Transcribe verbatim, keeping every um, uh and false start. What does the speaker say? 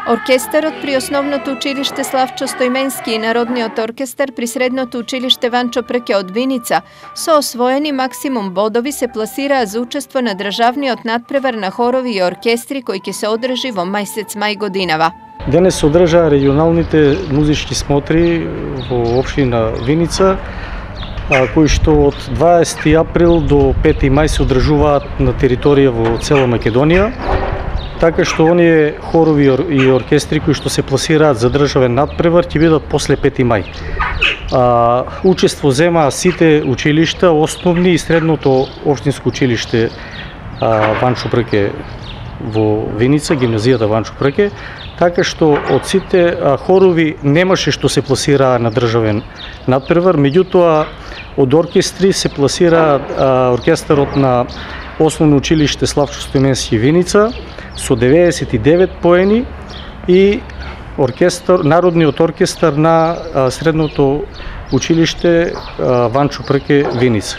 Оркестарот при Основното училиште Славчо Стоименски и Народниот оркестар при Средното училиште Ванчо Прке од Виница со освоени максимум бодови се пласираа за учество на државниот надпревар на хорови и оркестри кој ќе се одржи во месец мај годинава. Денес се одржаа регионалните музички смотри во општина Виница, кои што од дваесети април до пети мај се одржуваат на територија во цела Македонија. Така што оние хорови и оркестри кои што се пласираат за државен надпревар ќе бидат после пети мај. А, учество земаа сите училишта, основни и средното општинско училиште а, Ванчо Прке во Виница, гимназијата Ванчо Прке, така што од сите а, хорови немаше што се пласираа на државен надпревар, меѓутоа од оркестри се пласира а, оркестарот на Основно училиште Славчо Стоименски Виница со деветдесет и девет поени и оркестар, Народниот оркестар на а, Средното училиште а, Ванчо Прке Виница.